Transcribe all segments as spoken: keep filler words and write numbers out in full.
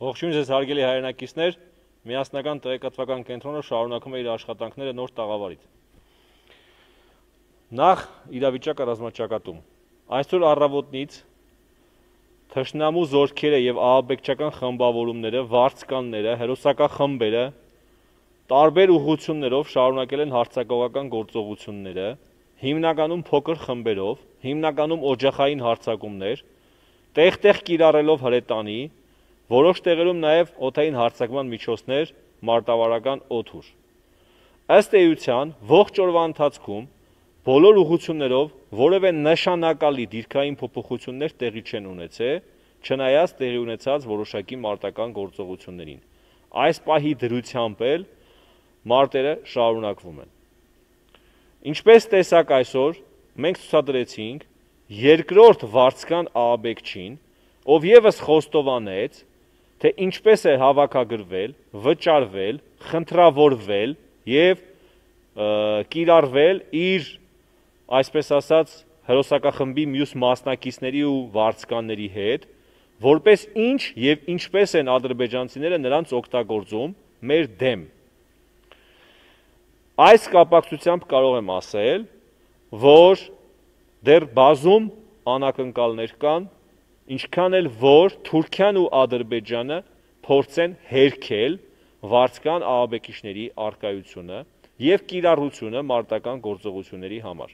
Ողջույն ձեզ հարգելի հայրենակիցներ, միասնական տեղեկատվական կենտրոնը շարունակում է իր աշխատանքները նոր տաղավարից։ Նախ իրավիճակը ռազմաճակատում։ Այսօր առավոտնից թշնամու զորքերը եւ ահաբեկչական խմբավորումները, վարձկանները, հերոսակախմբերը տարբեր ուղղություններով շարունակել են հարձակողական գործողությունները, հիմնականում փոքր խմբերով, հիմնականում օջախային հարձակումներ, տեղ-տեղ կիրառելով հրետանի, որոշ տեղերում նաև օդային հարձակման միջոցներ, մարտավարական օդուր։ Ըստ էության, ողջ օրվա ընթացքում բոլոր ուղղություններով որևէ նշանակալի դիրքային փոփոխություններ տեղի չեն ունեցել, չնայած տեղի ունեցած որոշակի մարտական գործողություններին։ Այս պահի դրությամբ էլ մարտերը շարունակվում են։ Ինչպես տեսակ այսօր, մենք ցուցադրեցինք երկրորդ վարձկան ահաբեկչին, ով եւս խոստովանեց, թե ինչպես է հավաքագրվել, վճարվել, խնդրավորվել եւ կիրառվել իր, այսպես ասած, հերոսակախմբի մյուս մասնակիցների ու վարձկանների հետ, որպես ինչ եւ ինչպես են ադրբեջանցիները նրանց օգտագործում մեր դեմ։ Այս կապակցությամբ կարող եմ ասել, որ դեռ բազում անակնկալներ կան, ինչքան էլ որ Թուրքիան ու Ադրբեջանը փորձեն հերքել վարձկան ահաբեկիչների առկայությունը եւ կիրառությունը մարտական գործողությունների համար։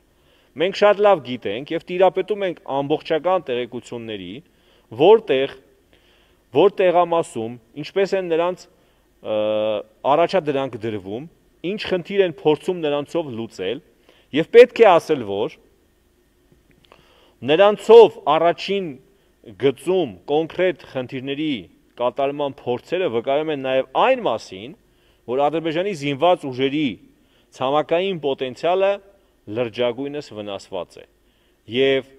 Մենք շատ լավ գիտենք եւ տիրապետում ենք ամբողջական տեղեկությունների, որտեղ որ տեղամասում, ինչպես են նրանց առաջադրանք դրվում, ինչ խնդիր են փորձում նրանցով լուծել, եւ պետք է ասել, որ նրանցով առաջին գծում կոնկրետ խնդիրների կատարման փորձերը վկայում են նաև այն մասին, որ Ադրբեջանի զինված ուժերի ցամաքային պոտենցիալը լրջագույնս վնասված է եւ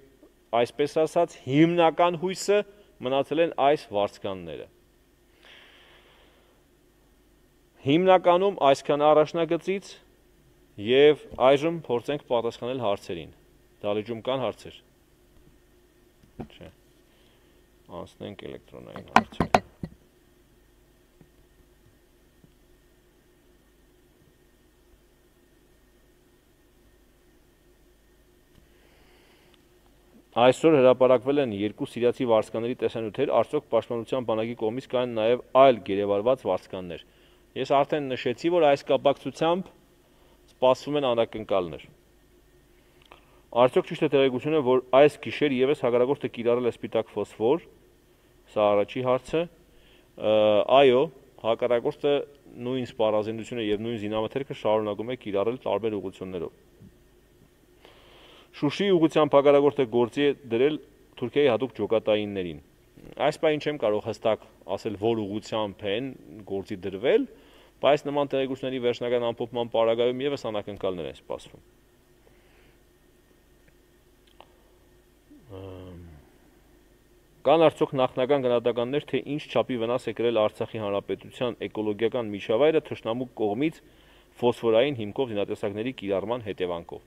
այսպես ասած հիմնական հույսը մնացել են այս վարձկանները։ Հիմնականում այսքան առաջնագծից եւ այժմ փորձենք պատասխանել հարցերին։ Դալիճում կան հարցեր։ Չէ։ Անցնենք էլեկտրոնային հարցեր։ Այսօր հրապարակվել են երկու սիրիացի վարձկանների տեսանյութեր, արդյոք պաշտպանության բանակի կողմից կան նաև այլ գերեվարված վարձկաններ։ Ես արդեն նշեցի, որ այս կապակցությամբ սպասվում են անակնկալներ։ Արդյոք ճիշտ է տեղեկությունը, որ այս գիշեր եւս հակառակորդը կիրառել է սպիտակ ֆոսֆոր, սա առաջի հարցը, այո, հակառակորդը նույն սպառազինությունը եւ նույն զինամթերքը շարունակում է կիրառել տարբեր ուղղություններով։ Շուշիի ուղղությամբ հակառակորդը գործի է դրել Թուրքիայի հատուկ ջոկատայիններին։ Այս պահին չեմ կարող հստակ ասել, որ ուղղությամբ են գործի դրվել, բայց նման տեղեկությունների վերջնական ամփոփման պարագայում եւս անակնկալներ են սպասվում։ Կան արդյոք նախնական գնահատականներ, թե ինչ չափի վնաս է կրել Արցախի հանրապետության էկոլոգիական միջավայրը թշնամու կողմից ֆոսֆորային հիմքով զինատեսակների կիրառման հետևանքով։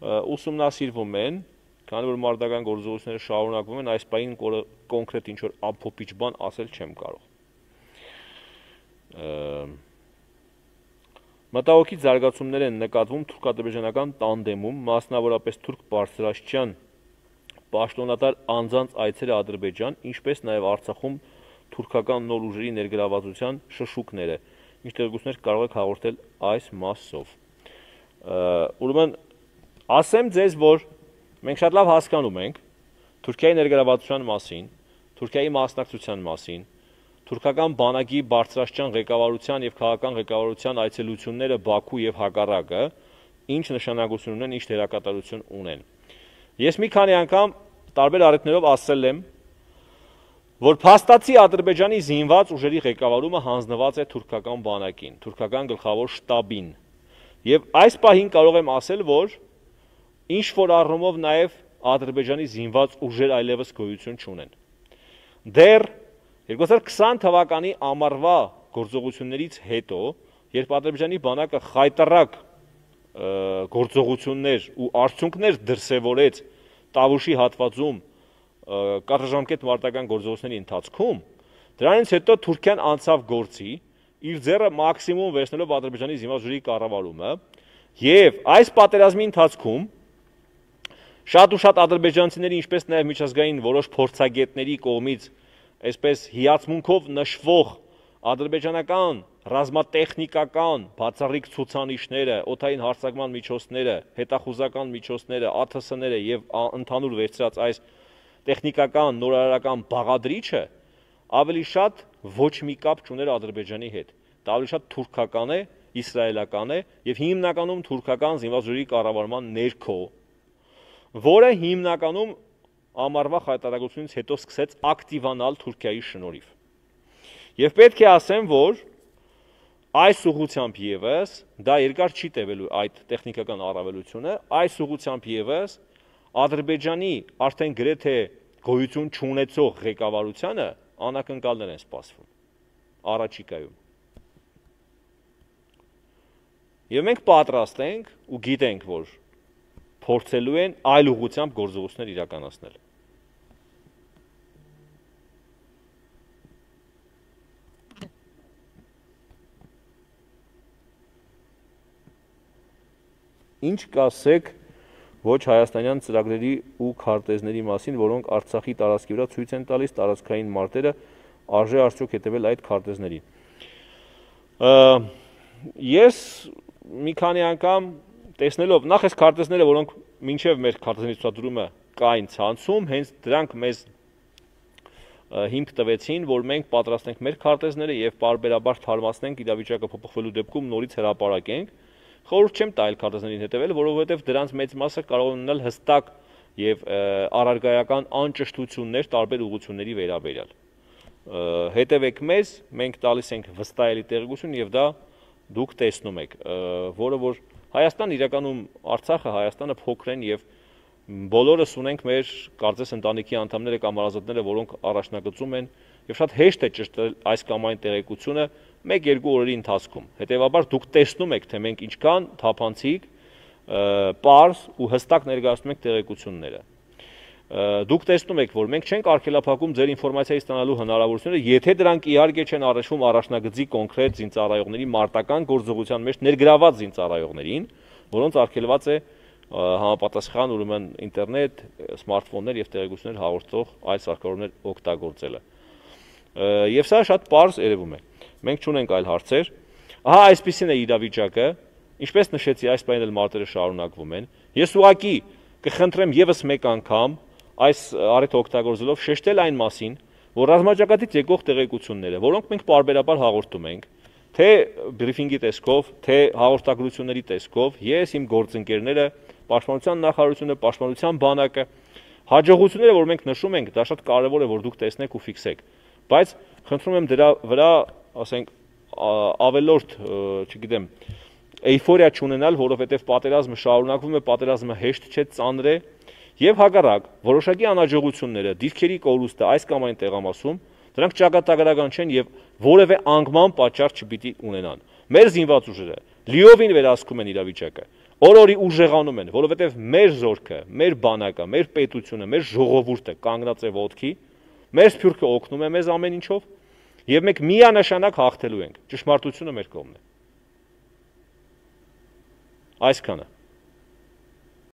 Ուսումնասիրվում են, քանի որ մարտական գործողությունները շարունակվում են, այս պահին կոնկրետ ինչ որ ամփոփիչ բան ասել չեմ կարող։ Մտահոգիչ զարգացումներ են նկատվում թուրք-ադրբեջանական տանդեմում, մասնավորապես թուրք բարձրաստիճան պաշտոնատար անձանց այցերը Ադրբեջան, ինչպես նաև Արցախում թուրքական նոր ուժերի ներգրավվածության շշուկները, ինչ տեղեկություններ կարող եք հաղորդել այս մասով։ Ուրեմն ասեմ ձեզ, որ մենք շատ լավ հասկանում ենք Թուրքիայի ներգրավվածության մասին, Թուրքիայի մասնակցության մասին, թուրքական բանակի բարձրաստիճան ղեկավարության եւ քաղաքական ղեկավարության այցելությունները Բաքու եւ հակառակը ինչ նշանակություն ունեն, ինչ դերակատարություն ունեն։ Ես մի քանի անգամ տարբեր առիթներով ասել եմ, որ փաստացի Ադրբեջանի զինված ուժերի ղեկավարումը հանձնված է թուրքական բանակին, թուրքական գլխավոր շտաբին։ Եվ այս պահին կարող եմ ասել, որ ինչ որ առումով նաև Ադրբեջանի զինված ուժեր այլևս գոյություն չունեն։ Դեռ երկու հազար քսան թվականի ամառվա գործողություններից հետո, երբ Ադրբեջանի բանակը խայտառակ գործողություններ ու արդյունքներ դրսևորեց Տավուշի հատվածում կարճաժամկետ մարտական գործողությունների ընթացքում, Դրանից հետո Թուրքիան անցավ գործի, իր ձեռը մաքսիմում վերցնելով Ադրբեջանի զինված ուժերի կառավարումը, եւ այս պատերազմի ընթացքում շատ ու շատ ադրբեջանցիների, ինչպես նաեւ միջազգային որոշ փորձագետների կողմից այսպես հիացմունքով նշվող ադրբեջանական ռազմատեխնիկական բացառիկ ցուցանիշները, օդային հարձակման միջոցները, հետախուզական միջոցները, A T S-ները եւ ընդհանուր վերցրած այս տեխնիկական նորարարական բաղադրիչը ավելի շատ ոչ մի կապ չուներ Ադրբեջանի հետ։ Դա ավելի շատ թուրքական է, իսրայելական է եւ հիմնականում թուրքական զինված ուժերի կառավարման ներքո, որը հիմնականում ամառվա խայտարակությունից հետո սկսեց ակտիվանալ Թուրքիայի շնորհիվ։ Եվ պետք է ասեմ, որ այս ուղղությամբ եւս դա երկար չի տևելու այդ տեխնիկական առավելությունը, այս ուղղությամբ եւս Ադրբեջանի արդեն գրեթե գոյություն չունեցող ղեկավարությանը անակնկալներ են սպասվում առաջիկայում։ Եվ մենք պատրաստ ենք ու գիտենք, որ փորձելու են այլ ուղղությամբ գործողություններ իրականացնել։ Ինչ կասեք ոչ հայաստանյան ծրագրերի ու քարտեզների մասին, որոնք Արցախի տարածքի վրա ցույց են տալիս տարածքային մարտերը, արժե արդյոք հետևել այդ քարտեզներին։ Ես մի քանի անգամ տեսնելով նախ այս քարտեզները, որոնք մինչև մեր քարտեզների ցուցադրումը կային ցանցում, հենց դրանք մեզ հիմք տվեցին, որ մենք պատրաստ ենք մեր քարտեզները եւ պարբերաբար թարմացնենք իրավիճակը փոփոխվելու դեպքում նորից հրապարակենք։ Խորհուրդ չեմ տա այլ քարտեզներին հետևել, որովհետև դրանց մեծ մասը կարող է ունենալ հստակ եւ առարգայական անճշտություններ տարբեր ուղղությունների վերաբերյալ։ Հետևեք մեզ, մենք տալիս ենք վստահելի տեղեկություն եւ դա դուք տեսնում եք, որը որ Հայաստան իրականում Արցախը Հայաստանը փոքր են եւ բոլորս ունենք մեր կարծես ընտանիքի անդամները կամ հարազատները, որոնք առաջնագծում են եւ շատ հեշտ է ճշտել այս կամ այն տեղեկությունը մեկ-երկու օրերի ընթացքում։ Հետևաբար դուք տեսնում եք, թե մենք ինչքան թափանցիկ, պարզ ու հստակ ներկայացնում ենք տեղեկությունները։ Դուք տեսնում եք, որ մենք չենք արգելափակում ձեր ինֆորմացիայի ստանալու հնարավորությունները, եթե դրանք իհարկե չեն առնչվում առաջնագծի կոնկրետ զինծառայողների մարտական գործողության մեջ ներգրաված զինծառայողներին, որոնց արգելված է համապատասխան ուրեմն ինտերնետ, սմարթֆոններ եւ տեղեկություններ հաղորդող այլ սարքավորումներ օգտագործելը։ Եվ սա շատ պարզ երևում է։ Մենք չունենք այլ հարցեր։ Ահա այսպեսին է իրավիճակը, ինչպես նշեցի, այս պայն էլ մարտերը շարունակվում են։ Ես ուղղակի կխնդրեմ եւս մեկ անգամ այս առիթը օգտագործելով շեշտել այն մասին, որ ռազմաճակատից եկող տեղեկությունները, որոնք մենք պարբերաբար հաղորդում ենք, թե բրիֆինգի տեսքով, թե հաղորդագրությունների տեսքով, ես իմ գործընկերները, Պաշտպանության նախարարությունը, Պաշտպանության բանակը, հաջողությունները, որ մենք նշում ենք, դա շատ կարևոր է, որ դուք տեսնեք ու ֆիքսեք, բայց խնդրում եմ դրա վրա, ասենք, ավելորդ, չգիտեմ, էյֆորիա չունենալ, որովհետև պատերազմը շարունակվում է, պատերազմը հեշտ չէ, ծանր է, եւ հակառակ որոշակի անհաջողությունները, դիրքերի կորուստը այս կամ այն տեղամասում, դրանք ճակատագրական չեն եւ որևէ անկման պատճառ չպիտի ունենան։ Մեր զինված ուժերը լիովին վերահսկում են իրավիճակը, օր-օրի ուժեղանում են, որովհետեւ մեր զորքը, մեր բանակը, մեր պետությունը, մեր ժողովուրդը կանգնած է ոտքի, մեր սփյուռքը օգնում է մեզ ամեն ինչով եւ մենք միանշանակ հաղթելու ենք։ Ճշմարտությունը մեր կողմն է։ Այսքանը։